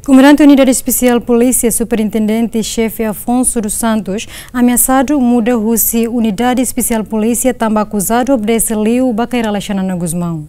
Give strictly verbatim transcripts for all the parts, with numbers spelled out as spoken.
Komandante Unidade Espesiál Polísia, Superintendente Xefe Afonso dos Santos, ameasadu muda husi Unidade Espesiál Polísia tanba akuzadu obedese liu ba Kay Rala Xanana Gusmão.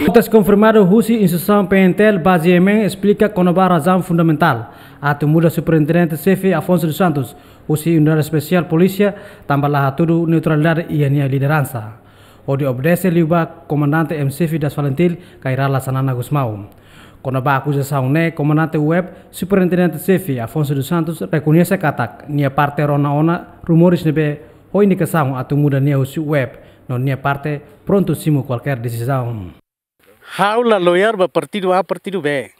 Notas konfirmadu husi instituisaun P N T L ba GMN esplika kona-ba razaun fundamentál atu muda Superintendente Xefe Afonso dos Santos husi Unidade Espesiál Polísia tanba la hatudu neutralidade iha nia lideransa, hodi obedese liu ba Komandante M Xefe das Falintil Kay Rala Xanana Gusmão. Kona-ba akuzasaun ne'e, Komandante U E P, Superintendente Xefe Afonso dos Santos rekoñese katak nia parte rona ona rumores ne'ebé ho indikasaun atu muda nia husi U E P, no nia parte prontu simu kualkér desizaun. Ha'u la loyal ba partidu A, partidu B.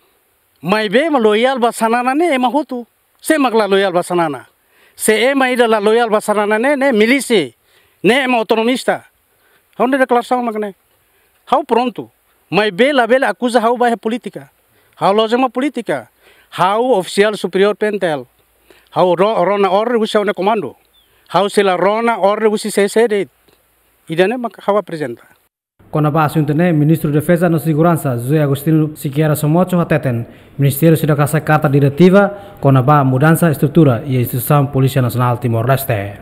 Maibé ema loyal ba Xanana ne'e ema hotu. Sé mak la loyal ba Xanana? Se ema ida la loyal ba Xanana ne'e, ne'e milísia, ne'e ema autonomista. Ha'u-nia deklarasaun mak ne'e. Ha'u prontu. Maibé labele akuza ha'u ba iha polítika. Ha'u la'ós ema polítika. Ha'u ofisiál superiór P N T L. Ha'u ro-, rona orden husi ha'u-nia komandu. Ha'u sei la rona orden husi sé-sé de'it. Ida-ne'e mak ha'u aprezenta. Kona-ba asuntu ne'e, Ministru Defeza no Seguransa, José Agostinho Sequeira Somocho hateten, Ministériu seidauk hasai karta diretiva kona-ba mudansa estrutura iha instituisaun Polísia Nasionál Timor-Leste.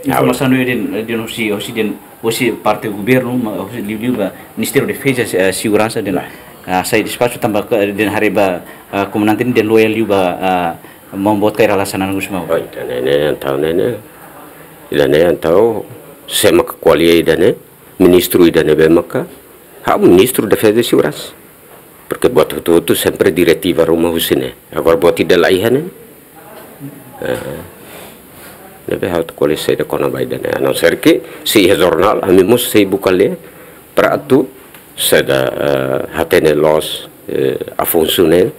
Informasaun ne'e dehan, dehan husi, husi dehan, husi parte governu, ma husi liuliu ba Ministériu Defeza, eh, Seguransa dehan, ah, sai despaxu tanba, eh, dehan haree ba, ah, komandante ne'e dehan loyal liu ba, ah, maun boot Kay Rala Xanana Gusmão. Oh, ida-ne'e, entaun ne'e, ida-ne'e, entaun, sé mak ko'alia ida-ne'e? Ministru ida ne'ebé maka, ha'u Ministru Defeza no Seguransa. Porque buat hotu-hotu sempre diretiva ruma husi ne'e. Agora buat ida la iha ne'e. Eh, ne'ebé ha'u atu ko'alia saida kona-ba ida-ne'e. A não ser que, se iha jornál, ami mós sei buka lee, para atu saida, eh, hatene loos, eh, Afonso ne'e,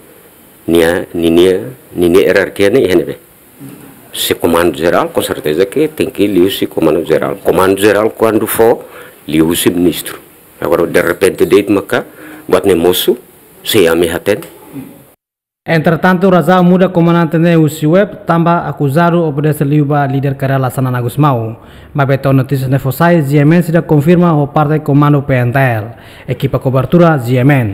nia, ninia, ninia ierarkia ne'e iha ne'ebé. Se komandu jerál, com certeza que tenke liuhusi komandu jerál. Komandu jerál kuandu fó, liuhusi ministru. Agora, de repente, de'it maka, buat ne'e mosu, sei ami hatene. Entretantu, razaun muda komandante ne'e husi U E P tanba akuzadu obedese liu ba líder Kay Rala Xanana Gusmão. Maibé to'o notísia ne'e fó sai, GMN seidauk konfirma ho parte komandu P N T L. Ekipa kobertura GMN.